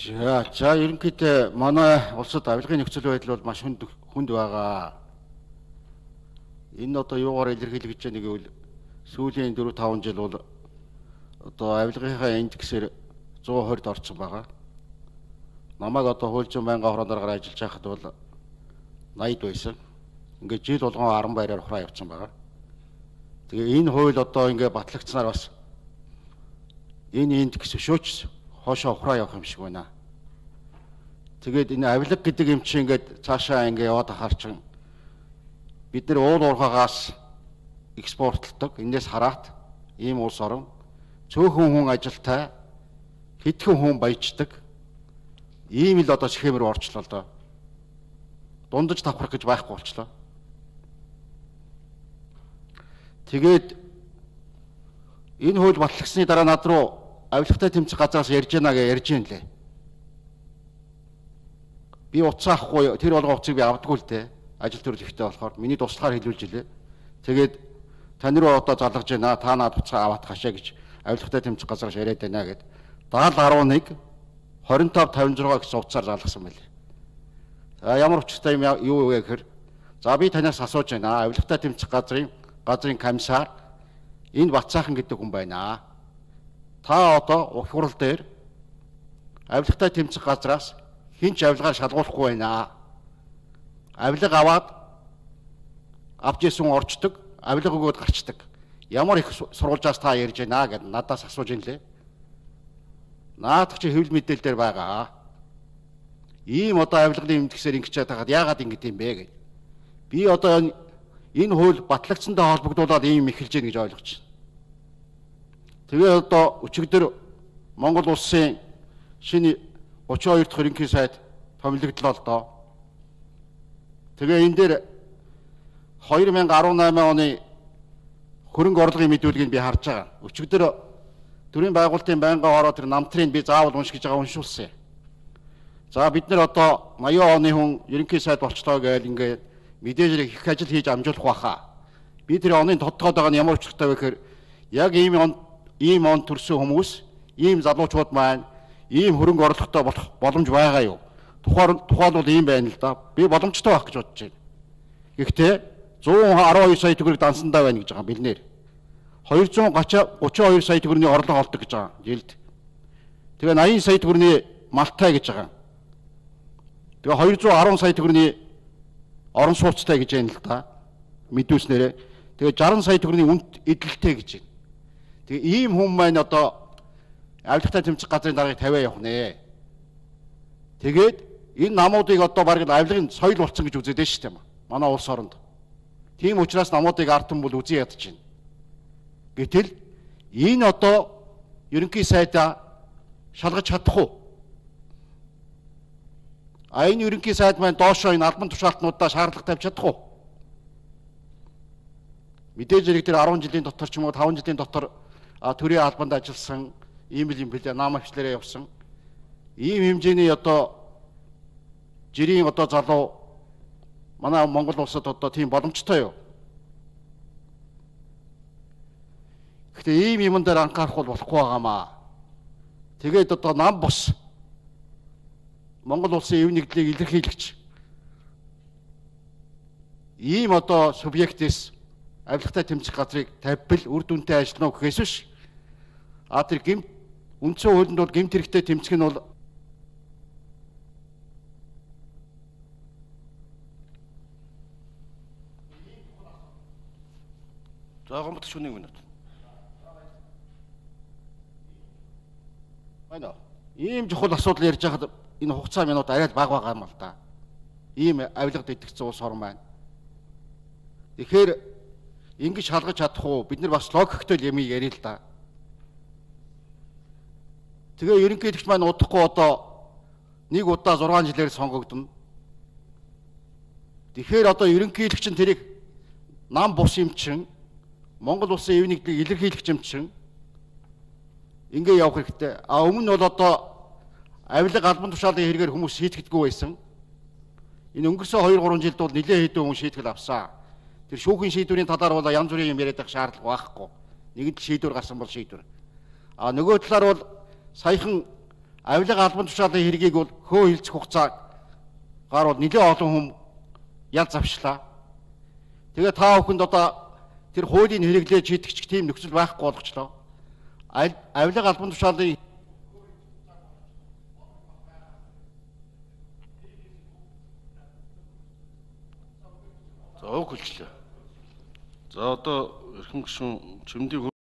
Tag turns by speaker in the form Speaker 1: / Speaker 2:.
Speaker 1: За ерөнхийдөө манай улсад авилгын нөхцөл байдал бол маш хүнд байгаа. Энэ одоо юугаар илэрхийлэх гэж нэг үл сүүлийн 4-5 жил бол одоо авилгынхаа индексээр 120-д орсон байгаа. Намайг одоо хуульчин байнгын хорооноор ажиллаж байхад бол 80-д байсан. Ингээд жил болгон 10 баяраар хураа явцсан байгаа. Тэгээ энэ хууль одоо ингээд батлагдсанаар бас энэ индекс шөөч хоошоо хураа явах юм шиг байна. Тэгээд энэ авилга гэдэг юм чинь ингээд цаашаа ингээд яваад ахаар чинь бид нар уул уурхаагаас экспортлдог. Энээс хараат ийм улс орон цөөхөн хүн ажилтай, хэдхэн хүн баяждаг. Ийм л одоо схемээр орчлоо л доо. Дундаж давхрах гэж байхгүй болчлоо. Тэгээд энэ хууль батлагдсны дараа над руу авилгатай тэмцэх газраас ярьж байна гэж ярьж байна лээ. Би утас авахгүй тэр болгоо утсыг би авдаггүй л дээ. Ажил төрөлхтэй болохоор миний туслахаар хэлүүлж илээ. Тэгээд тань руу одоо залгаж байна. Та наад утсаа аваад хашаа гэж авилгатай тэмцэх газраас яриад байна гэд 7011 2556 гэсэн утсаар залгасан байлээ. За ямар учиртай юм юу вэ гэхээр за би танаас асууж байна. Авилгатай тэмцэх газрын комиссар энэ Бацаахан гэдэг хүн байна. Та одоо ух хурал дээр авилгатай тэмцэх газраас хинч авилгаар шалгуулахгүй байна. Авилга аваад авч исэн орчдөг, авилга өгөөд гарчдаг. Ямар их сурвалжаас та ярьж байна гэд надаас асууж ин лээ. Наадах чи хэвлэл мэдээлэл дээр байгаа. Ийм одоо авилгын индексээр ингэж хаад яагаад ингэж юм бэ гэж. Би одоо энэ хууль батлагдсантай холбогдуулаад ийм эхэлж гин гэж ойлгож байна. Тэгээ одоо өчигдөр Монгол улсын шинэ 32 дахь ерөнхий сайд томилогдлоо л доо. Тэгээ энэ дээр 2018 оны хөрөнгө орлогын мэдүүлгийг би харж байгаа. Өчигдөр төрийн байгуулалтын байнгын хороо тэр намтрыг би заавал уншиж байгаа уншуулсан. За бид нар одоо 80 оны хүн ерөнхий сайд болчлоо гэж ингээд мэдээж их ажил хийж амжуулах байхаа. Би тэр оны тодтоод байгаа нь ямар учиртай вэ гэхээр яг ийм он төрсэн хүмүүс, ийм залуучууд маань ийм хөрөнгө орлоготой болох боломж байгаа юу? Тухайн бол ийм байна л да. Би боломжтой байх гэж бодож байна. Гэхдээ 112 сая төгрөг дансандаа байна гэж байгаа бэлнээр. 232 сая төгрөгийн орлого олдог гэж байгаа жилд. Тэгээ 80 сая төгрөгийн малтай гэж байгаа. Тэгээ 210 сая төгрөгийн орон сууцтай гэж байна л да. Мэдүүлснээрээ. Тэгээ 60 сая төгрөгийн үнэт эдэлтэй гэж байна. Тэгээ ийм хүн маань одоо авилгатай тэмцэх газрын даргаыг тавиа явах нэ. Тэгээд энэ намуудыг одоо бараг авилгын соёл болсон гэж үзээд байна шүү дээ. Манай улс оронд. Тийм учраас намуудыг артан бол үзий ядаж байна. Гэтэл энэ одоо ерөнхий сайдаа шалгаж чадах уу? Энэ ерөнхий сайд маань доошоо энэ албан тушаалтнуудаа шаардлага тавьж чадах уу? Мэдээж зэрэг тэр 10 жилийн дотор ч юм уу 5 жилийн дотор төрийн албанд ажилласан ийм л юм билээ, намагчлаараа явсан. Ийм хэмжээний одоо жирийн одоо залуу манай Монгол улсад одоо тийм боломжтой юу? Гэхдээ ийм юм дээр анхаарах бол болохгүй байгаамаа. Тэгээд одоо нам бос Монгол улсын эв нэгдлийг илэрхийлэгч ийм одоо субъектээс авилгатай тэмцэх газрыг тавьбал үр дүнтэй ажиллана уу гэхээс биш. Тэр гэмт үндсэн хуулинд бол гэмт хэрэгтэй тэмцэх нь бол заахан бот шүнийг минут. Байна. Ийм чухал асуудал ярьж байхад энэ хугацаа минут арай л бага байгаа юм л да. Ийм авилгад идэвхсэн улс орн маань. Тэгэхээр ингэж шалгаж чадах уу? Бид нар бас логиктой юм ярил л да. Тэгээ ерөнхийлөгч маань удахгүй одоо нэг удаа 6 жилээр сонгогдно. Тэгэхээр одоо ерөнхийлөгч нь тэрийг нам бус юм чин Монгол улсын эв нэгдлийг илэрхийлэх юм чин ингээ явах хэрэгтэй. Өмнө нь бол одоо авилга албан тушаалын хэрэгээр хүмүүс шийтгэдэггүй байсан. Энэ өнгөрсөн 2-3 жилд бол нэлээд хэдэн хүн шийтгэл авсан. Тэр шүүхийн шийдвэрийн талаар бол янз бүрийн юм яриад байх шаардлага байхгүй. Нэгд шийдвэр гарсан бол шийдвэр. Нөгөө талаар бол саяхан авилга албан тушаалын хэргийг бол хөө хилцэх хугацаагаар бол нэлээд олон хүм ял завшлаа. Тэгээ та бүхэнд одоо тэр хуулийн хэрэглээ шийдэгч тийм нөхцөл байхгүй болгочлоо. Авилга албан тушаалын
Speaker 2: За өг хэлчлээ. За одоо эрхэм гишүүн Чимдийн